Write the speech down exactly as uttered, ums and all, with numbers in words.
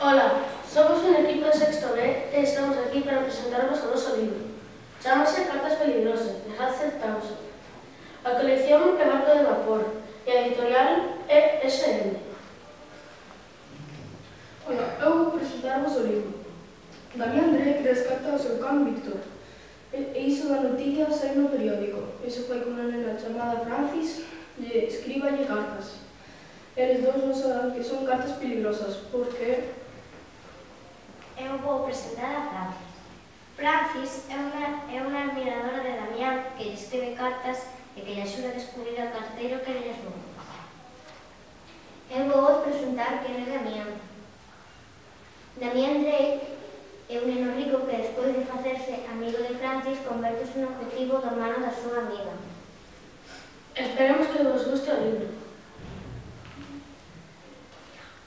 Ola, somos un equipo de sexto B e estamos aquí para presentarvos o noso libro. Chámase Cartas peligrosas, de Hudson Townsend. A colección é Barco de Vapor e a editorial é S M. Ola, eu vou presentarvos o libro. Damián Drake rescata o seu can Víctor. E iso da noticia sai no periódico. Iso foi con unha nena chamada Francis e escríballe cartas. Eles dous non saben que son cartas peligrosas, porque Eu vou presentar a Francis. Francis é unha, é unha admiradora de Damián que lle escribe cartas e que lle axuda a descubrir o carteiro que lles roubou. Eu vou presentar quen é Damián. Damián Drake é un neno rico que despois de facerse amigo de Francis convertese no objetivo do hermano da súa amiga. Esperemos que vos guste o libro.